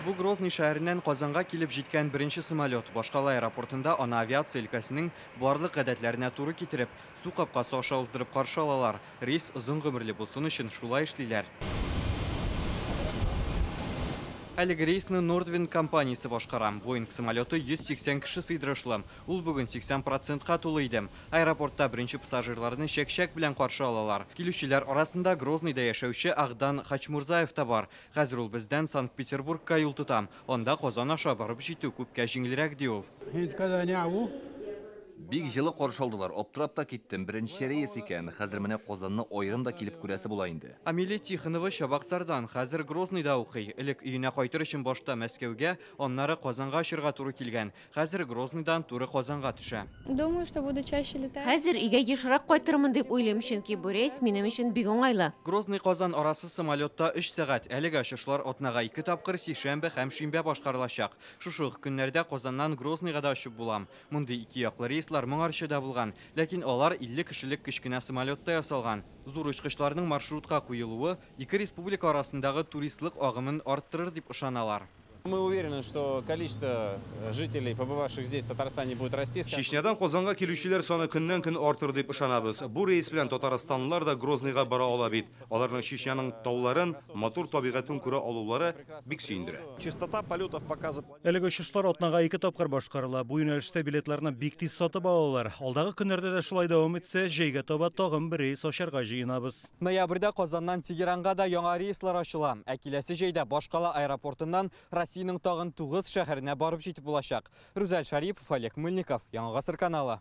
Бу Грозный шәһәреннән Казанга килеп җиткән беренче самолет. Башкала аэропортында аны авиация өлкәсенең барлык гадәтләренә туры китереп, су капкасы аша уздырып каршы алалар. Рейс озын гомерле булсын өчен шулай эшлиләр. Әлеге рейсны Nordwind компаниясе башкара. Боинг самолеты 180 кеше сыйдырышлы. Ул бүген 80%ка тулы иде. Аэропортта беренче пассажирларны чәк-чәк белән каршы алалар. Килүчеләр арасында Грозныйда яшәүче Агдан Хачмурзаев та бар. Хәзер ул бездән Санкт-Петербургка юл тота. Анда Казан аша барып җитү күпкә җиңелрәк, ди ул. Бик җылы каршы алдылар, аптырап та киттем. Беренче рейс икән. Хәзер менә Казанны аерым да килеп күрәсе була инде. Амелия Тихонова Чабаксардан, хәзер Грозныйда укый. Элек өенә кайтыр өчен башта Мәскәүгә, аннары Казанга очырга туры килгән. Хәзер Грозныйдан туры Казанга төшә. Думаю, что буду чаще летать. Хәзер өйгә ешрак кайтырмын дип уйлыйм, чөнки бу рейс минем өчен бик уңайлы. Грозный Казан арасы самолетта 3 сәгать. Әлеге очышлар атнага 2 тапкыр сишәмбе һәм шимбә башкарылачак. Шушы ук көннәрдә Казаннан Грозныйга да очып була. Мондый ике яклы рейслар моңарчы да булган, ләкин алар 50 кешелек кечкенә самолетта ясалган. Зур очкычларның маршрутка куелуы ике республика арасындагы туристлык агымын арттырыр дип ышаналар. Мы уверены, что количество жителей, побывавших здесь, в Татарстане, будет расти. Чечнядан Казанга килүчеләр саны көннән-көн артыр дип ышанабыз. Бу рейс белән татарстанлылар да Грозныйга бара ала бит. Аларның Чечняның тауларын, матур табигатен күрә алулары бик сөендерә. Частота полетов пока запланирована. Әлеге очышлар атнага 2 тапкыр башкарыла. Бу юнәлештә билетларны бик тиз сатып алалар. Алдагы көннәрдә дә шулай дәвам итсә, җәйгә таба тагын бер рейс ачарга җыенабыз. Ноябрьдә Казаннан Тегеранга да яңа рейслар ачыла. Ә киләсе җәйдә башкала аэропортыннан Россиянең тагын 9 шәһәренә барып җитеп булачак. Рүзәл Шарипов, Олег Мыльников, Яңа Гасыр каналы.